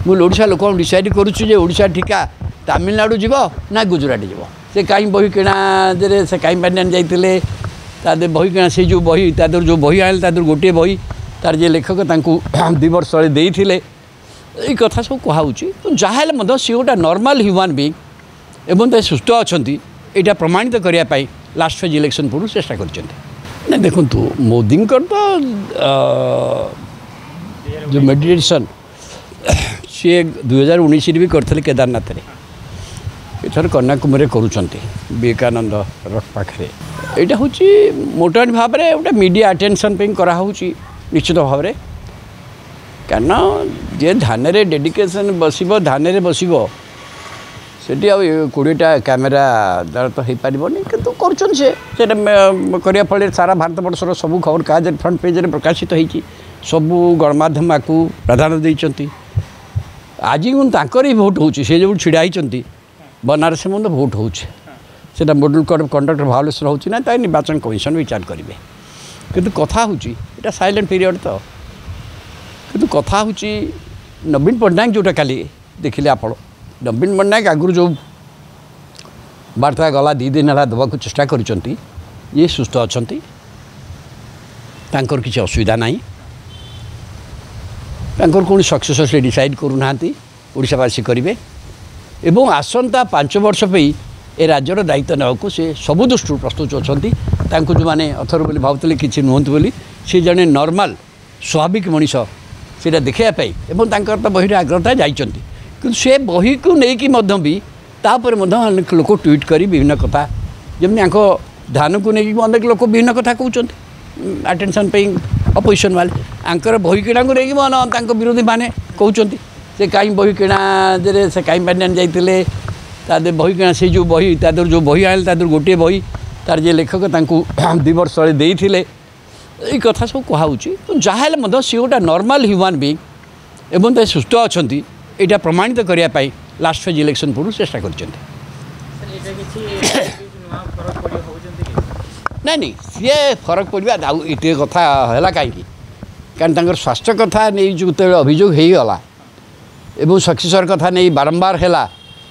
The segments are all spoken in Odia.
ମୁଁ ଓଡ଼ିଶା ଲୋକଙ୍କୁ ଡିସାଇଡ଼୍ କରୁଛି ଯେ ଓଡ଼ିଶା ଠିକା ତାମିଲନାଡ଼ୁ ଯିବ ନା ଗୁଜୁରାଟ ଯିବ। ସେ କାହିଁ ବହି କିଣା ଦେହରେ ସେ କାହିଁ ପାଣ୍ଡିଆନ ଯାଇଥିଲେ, ତା ଦେହରେ ବହି କିଣା, ସେଇ ଯେଉଁ ବହି ତା ଦେହରୁ ଯେଉଁ ବହି ଆଣିଲେ ତା ଦେହରୁ ଗୋଟିଏ ବହି ତାର ଯିଏ ଲେଖକ ତାଙ୍କୁ 2 ବର୍ଷ ତଳେ ଦେଇଥିଲେ। ଏଇ କଥା ସବୁ କୁହାହେଉଛି। ଯାହା ହେଲେ ମଧ୍ୟ ସିଏ ଗୋଟେ ନର୍ମାଲ୍ ହ୍ୟୁମାନ୍ ବିଇଙ୍ଗ ଏବଂ ସେ ସୁସ୍ଥ ଅଛନ୍ତି, ଏଇଟା ପ୍ରମାଣିତ କରିବା ପାଇଁ ଲାଷ୍ଟ ଫେଜ୍ ଇଲେକ୍ସନ୍ ପୂର୍ବରୁ ଚେଷ୍ଟା କରିଛନ୍ତି। ନା ଦେଖନ୍ତୁ, ମୋଦିଙ୍କର ତ ଯେଉଁ ମେଡ଼ିଟେସନ୍ ସିଏ 2019ରେ ବି କରିଥିଲେ କେଦାରନାଥରେ, ଏଥର କନ୍ୟାକୁମାରୀରେ କରୁଛନ୍ତି ବିବେକାନନ୍ଦ ରକ୍ ପାଖରେ। ଏଇଟା ହେଉଛି ମୋଟାମୋଟି ଭାବରେ ଗୋଟେ ମିଡ଼ିଆ ଆଟେନସନ୍ ପାଇଁ କରାହେଉଛି ନିଶ୍ଚିତ ଭାବରେ। କାରଣ ଯିଏ ଧାନରେ ଡେଡିକେସନ୍ ବସିବ, ଧାନରେ ବସିବ, ସେଠି ଆଉ 20ଟା କ୍ୟାମେରା ଦ୍ୱାରା ତ ହେଇପାରିବନି, କିନ୍ତୁ କରୁଛନ୍ତି ସେ। ସେଇଟା କରିବା ଫଳରେ ସାରା ଭାରତବର୍ଷର ସବୁ ଖବର କାଗଜରେ ଫ୍ରଣ୍ଟ ପେଜ୍ରେ ପ୍ରକାଶିତ ହେଇଛି, ସବୁ ଗଣମାଧ୍ୟମ ଆକୁ ପ୍ରାଧାନ୍ୟ ଦେଇଛନ୍ତି। ଆଜି କିନ୍ତୁ ତାଙ୍କର ହିଁ ଭୋଟ୍ ହେଉଛି, ସେ ଯେଉଁଠି ଛିଡ଼ା ହେଇଛନ୍ତି ବନାରସ ମଧ୍ୟ ଭୋଟ୍ ହେଉଛି, ସେଇଟା model code of conduct violation ହେଉଛି ନା ତା ନିର୍ବାଚନ କମିଶନ ବିଚାର କରିବେ। କିନ୍ତୁ କଥା ହେଉଛି ଏଇଟା ସାଇଲେଣ୍ଟ ପିରିୟଡ଼ ତ, କିନ୍ତୁ କଥା ହେଉଛି ନବୀନ ପଟ୍ଟନାୟକ ଯେଉଁଟା କାଲି ଦେଖିଲେ ଆପଣ, ନବୀନ ପଟ୍ଟନାୟକ ଆଗରୁ ଯେଉଁ ବାର୍ତ୍ତା ଗଲା 2 ଦିନ ହେଲା ଦେବାକୁ ଚେଷ୍ଟା କରିଛନ୍ତି, ଇଏ ସୁସ୍ଥ ଅଛନ୍ତି, ତାଙ୍କର କିଛି ଅସୁବିଧା ନାହିଁ, ତାଙ୍କର କୌଣସି ସକ୍ସେସର୍ ସେ ଡିସାଇଡ଼୍ କରୁନାହାନ୍ତି, ଓଡ଼ିଶାବାସୀ କରିବେ ଏବଂ ଆସନ୍ତା 5 ବର୍ଷ ପାଇଁ ଏ ରାଜ୍ୟର ଦାୟିତ୍ୱ ନେବାକୁ ସେ ସବୁ ଦୃଷ୍ଟିରୁ ପ୍ରସ୍ତୁତ ଅଛନ୍ତି। ତାଙ୍କୁ ଯେଉଁମାନେ ଅଥର ବୋଲି ଭାବୁଥିଲେ କିଛି ନୁହନ୍ତି ବୋଲି, ସେ ଜଣେ ନର୍ମାଲ୍ ସ୍ୱାଭାବିକ ମଣିଷ ସେଇଟା ଦେଖିବା ପାଇଁ ଏବଂ ତାଙ୍କର ତ ବହିରେ ଆଗ୍ରହତା ଯାଇଛନ୍ତି। କିନ୍ତୁ ସେ ବହିକୁ ନେଇକି ମଧ୍ୟ ବି ତାପରେ ମଧ୍ୟ ଅନେକ ଲୋକ ଟ୍ୱିଟ୍ କରି ବିଭିନ୍ନ କଥା, ଯେମିତି ଆଙ୍କ ଧାନକୁ ନେଇକି ଅନେକ ଲୋକ ବିଭିନ୍ନ କଥା କହୁଛନ୍ତି ଆଟେନସନ୍ ପାଇଁ ଅପୋଜିସନ୍ ବାଲେ, ଆଙ୍କର ବହି କିଣାକୁ ନେଇକି ମଧ୍ୟ ତାଙ୍କ ବିରୋଧୀମାନେ କହୁଛନ୍ତି ସେ କାହିଁ ବହି କିଣା ଦେହରେ ସେ କାହିଁ ପାଣ୍ଡିଆନ ଯାଇଥିଲେ, ତା ଦେହରେ ବହି କିଣା, ସେଇ ଯେଉଁ ବହି ତା ଦେହରୁ ଯେଉଁ ବହି ଆଣିଲେ ତା ଦେହରୁ ଗୋଟିଏ ବହି ତାର ଯିଏ ଲେଖକ ତାଙ୍କୁ 2 ବର୍ଷ ତଳେ ଦେଇଥିଲେ। ଏଇ କଥା ସବୁ କୁହାହେଉଛି। ଯାହା ହେଲେ ମଧ୍ୟ ସିଏ ଗୋଟେ ନର୍ମାଲ୍ ହ୍ୟୁମାନ୍ ବିଇଙ୍ଗ ଏବଂ ସେ ସୁସ୍ଥ ଅଛନ୍ତି, ଏଇଟା ପ୍ରମାଣିତ କରିବା ପାଇଁ ଲାଷ୍ଟ ଫେଜ୍ ଇଲେକ୍ସନ୍ ପୂର୍ବରୁ ଚେଷ୍ଟା କରିଛନ୍ତି। ନାଇଁ ନାଇଁ, ସିଏ ଫରକ ପଡ଼ିବା ଆଉ ଏତେ କଥା ହେଲା କାହିଁକି, କାରଣ ତାଙ୍କର ସ୍ୱାସ୍ଥ୍ୟ କଥା ନେଇ ଯେତେବେଳେ ଅଭିଯୋଗ ହେଇଗଲା ଏବଂ ସକ୍ସେସର୍ କଥା ନେଇ ବାରମ୍ବାର ହେଲା,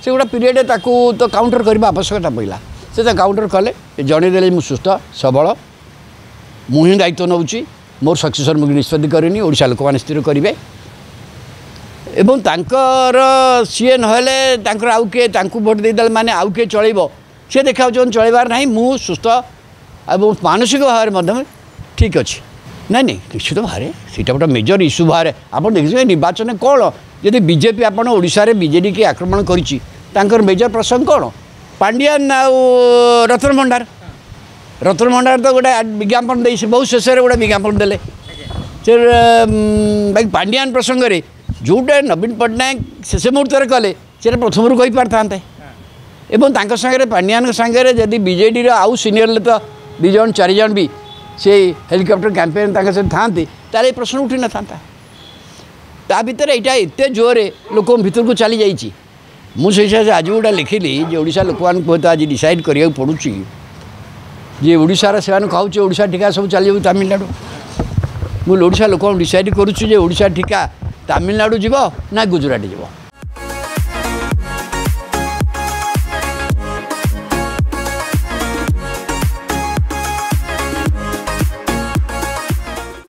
ସେ ଗୋଟେ ପିରିୟଡ଼ରେ ତାକୁ ତ କାଉଣ୍ଟର କରିବା ଆବଶ୍ୟକତା ପଡ଼ିଲା। ସେ ତ କାଉଣ୍ଟର କଲେ, ଜଣେଇଦେଲେ ମୁଁ ସୁସ୍ଥ ସବଳ, ମୁଁ ହିଁ ଦାୟିତ୍ୱ ନେଉଛି, ମୋର ସକ୍ସେସର୍ ମୁଁ ନିଷ୍ପତ୍ତି କରିନି, ଓଡ଼ିଶା ଲୋକମାନେ ସ୍ଥିର କରିବେ। ଏବଂ ତାଙ୍କର ସିଏ ନହେଲେ ତାଙ୍କର ଆଉ କିଏ ତାଙ୍କୁ ଭୋଟ୍ ଦେଇଦେଲେ ମାନେ ଆଉ କିଏ ଚଳେଇବ, ସିଏ ଦେଖାଉଛନ୍ତି ଚଳେଇବାର ନାହିଁ, ମୁଁ ସୁସ୍ଥ ଏବଂ ମାନସିକ ଭାବରେ ମଧ୍ୟ ଠିକ୍ ଅଛି। ନାଇଁ ନାଇଁ, ନିଶ୍ଚିତ ଭାବରେ ସେଇଟା ଗୋଟେ ମେଜର ଇସ୍ୟୁ ବାହାରେ। ଆପଣ ଦେଖିଥିବେ ନିର୍ବାଚନ କ'ଣ, ଯଦି ବିଜେପି ଆପଣ ଓଡ଼ିଶାରେ ବିଜେଡ଼ିକି ଆକ୍ରମଣ କରିଛି, ତାଙ୍କର ମେଜର ପ୍ରସଙ୍ଗ କ'ଣ? ପାଣ୍ଡିଆନ ଆଉ ରତ୍ନ ଭଣ୍ଡାର। ରତ୍ନ ଭଣ୍ଡାର ତ ଗୋଟେ ବିଜ୍ଞାପନ ଦେଇ ବହୁତ ଶେଷରେ ଗୋଟେ ବିଜ୍ଞାପନ ଦେଲେ ସେ। ବାକି ପାଣ୍ଡିଆନ ପ୍ରସଙ୍ଗରେ ଯେଉଁଟା ନବୀନ ପଟ୍ଟନାୟକ ଶେଷ ମୁହୂର୍ତ୍ତରେ କଲେ, ସେଇଟା ପ୍ରଥମରୁ କହିପାରିଥାନ୍ତେ। ଏବଂ ତାଙ୍କ ସାଙ୍ଗରେ ପାଣ୍ଡିଆନଙ୍କ ସାଙ୍ଗରେ ଯଦି ବିଜେଡ଼ିର ଆଉ ସିନିୟର ତ 2 ଜଣ 4 ଜଣ ବି ସେଇ ହେଲିକପ୍ଟର କ୍ୟାମ୍ପେନ୍ ତାଙ୍କ ସହିତ ଥାଆନ୍ତି, ତାହେଲେ ଏ ପ୍ରଶ୍ନ ଉଠିନଥାନ୍ତା। ତା ଭିତରେ ଏଇଟା ଏତେ ଜୋରରେ ଲୋକଙ୍କ ଭିତରକୁ ଚାଲିଯାଇଛି। ମୁଁ ସେଇ ହିସାବରେ ଆଜି ଗୋଟେ ଲେଖିଲି ଯେ ଓଡ଼ିଶା ଲୋକମାନଙ୍କୁ ହୁଏତ ଆଜି ଡିସାଇଡ଼୍ କରିବାକୁ ପଡ଼ୁଛି ଯେ ଓଡ଼ିଶାର ସେମାନେ କହୁଛି ଓଡ଼ିଶା ଠିକା ସବୁ ଚାଲିଯାଉଛି ତାମିଲନାଡ଼ୁ। ମୁଁ ଓଡ଼ିଶା ଲୋକଙ୍କୁ ଡିସାଇଡ଼୍ କରୁଛି ଯେ ଓଡ଼ିଶା ଠିକା ତାମିଲନାଡ଼ୁ ଯିବ ନା ଗୁଜୁରାଟ ଯିବ।